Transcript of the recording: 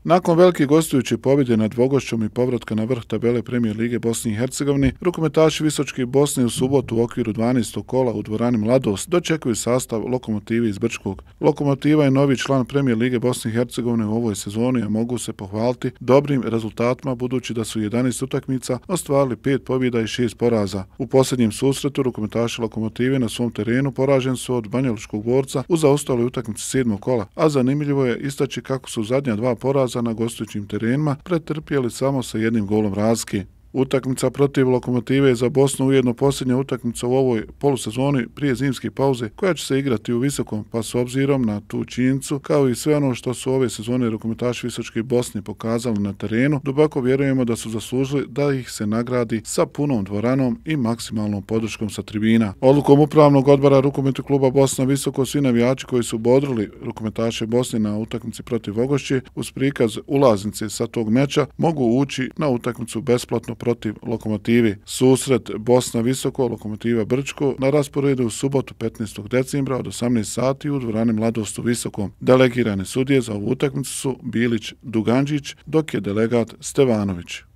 Nakon velike gostujuće pobjede nad Vogošćom i povratka na vrh tabele Premijer lige Bosne i Hercegovine, rukometaši Visočke Bosne u subotu u okviru 12. kola u dvorani Mladost dočekuju sastav Lokomotive iz Brčkog. Lokomotiva je novi član Premijer lige Bosne i Hercegovine u ovoj sezoni, a mogu se pohvaliti dobrim rezultatima budući da su 11 utakmica ostvarili 5 pobjeda i 6 poraza. U posljednjem susretu rukometaši Lokomotive na svom terenu poraženi su od Banjalučkog Borca u zaostaloj utakmici 7. kola, a zanimljivo je istaći kako su zadnja 2 poraza na gostujućim terenima pretrpjeli samo sa 1 golom razlike. Utakmica protiv Lokomotive za Bosnu ujedno posljednja utakmica u ovoj polusezoni prije zimske pauze koja će se igrati u Visokom, pa s obzirom na tu činjenicu kao i sve ono što su ove sezone rukometaši Visočke Bosne pokazali na terenu, duboko vjerujemo da su zaslužili da ih se nagradi sa punom dvoranom i maksimalnom podrškom sa tribina. Odlukom upravnog odbora rukometnog kluba Bosna Visoko svi navijači koji su bodrili rukometaše Bosne na utakmici protiv Vogošće uz prikaz ulaznice sa tog meča mogu ući na utakmicu besplatno protiv Lokomotive. Susret Bosna Visoko, Lokomotiva Brčko na rasporedu u subotu 15. decembra od 18 sati u dvorani Mladost u Visokom. Delegirane sudije za ovu utakmicu su Bilić Duganđić, dok je delegat Stevanović.